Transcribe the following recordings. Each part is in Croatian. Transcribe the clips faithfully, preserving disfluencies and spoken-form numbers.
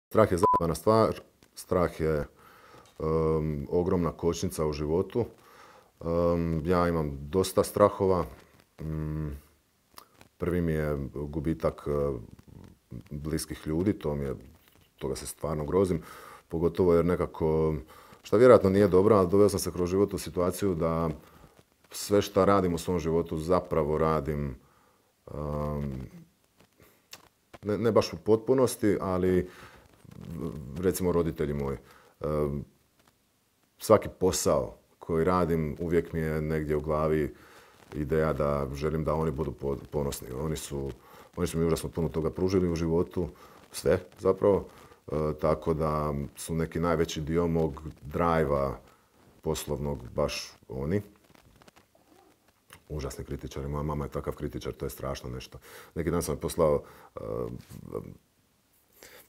Strah je zajebana stvar, strah je um, ogromna kočnica u životu. Um, ja imam dosta strahova. Um, prvi mi je gubitak uh, bliskih ljudi, to mi je, toga se stvarno grozim. Pogotovo jer nekako, što vjerojatno nije dobro, ali doveo sam se kroz život u situaciju da sve što radim u svom životu zapravo radim um, ne, ne baš u potpunosti, ali recimo roditelji moji. Um, svaki posao koji radim uvijek mi je negdje u glavi ideja da želim da oni budu ponosni. Oni su, oni su mi užasno puno toga pružili u životu, sve zapravo. E, tako da su neki najveći dio mog drajva poslovnog baš oni. Užasni kritičari. Moja mama je takav kritičar, to je strašno nešto. Neki dan sam je poslao uh,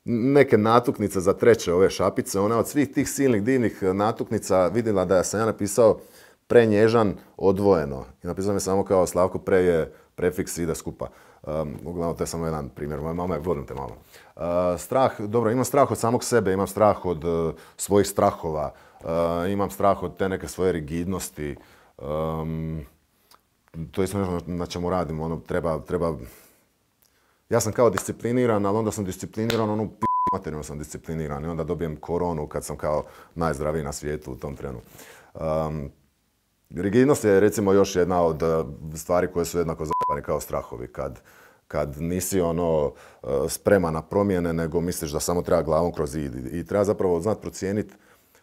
neke natuknice za treće ove šapice. Ona od svih tih silnih divnih natuknica vidjela da sam ja napisao prenježan odvojeno. I napisao mi samo kao Slavko pre je prefiks ide skupa. Um, uglavnom, to je samo jedan primjer. Moja mama je, volim te malo. Uh, strah, dobro, imam strah od samog sebe, imam strah od uh, svojih strahova, uh, imam strah od te neke svoje rigidnosti. Um, to je isto nešto na čemu radim. Ono, treba, treba... Ja sam kao discipliniran, ali onda sam discipliniran, ono p*** materijalno sam discipliniran i onda dobijem koronu kad sam kao najzdraviji na svijetu u tom trenu. Um, rigidnost je recimo još jedna od stvari koje su jednako zajebane kao strahovi. Kad, kad nisi ono spreman na promjene, nego misliš da samo treba glavom kroz zid. I treba zapravo znati procijeniti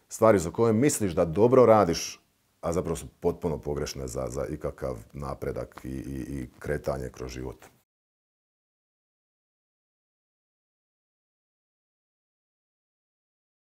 stvari za koje misliš da dobro radiš, a zapravo su potpuno pogrešne za, za ikakav napredak i, i, i kretanje kroz život.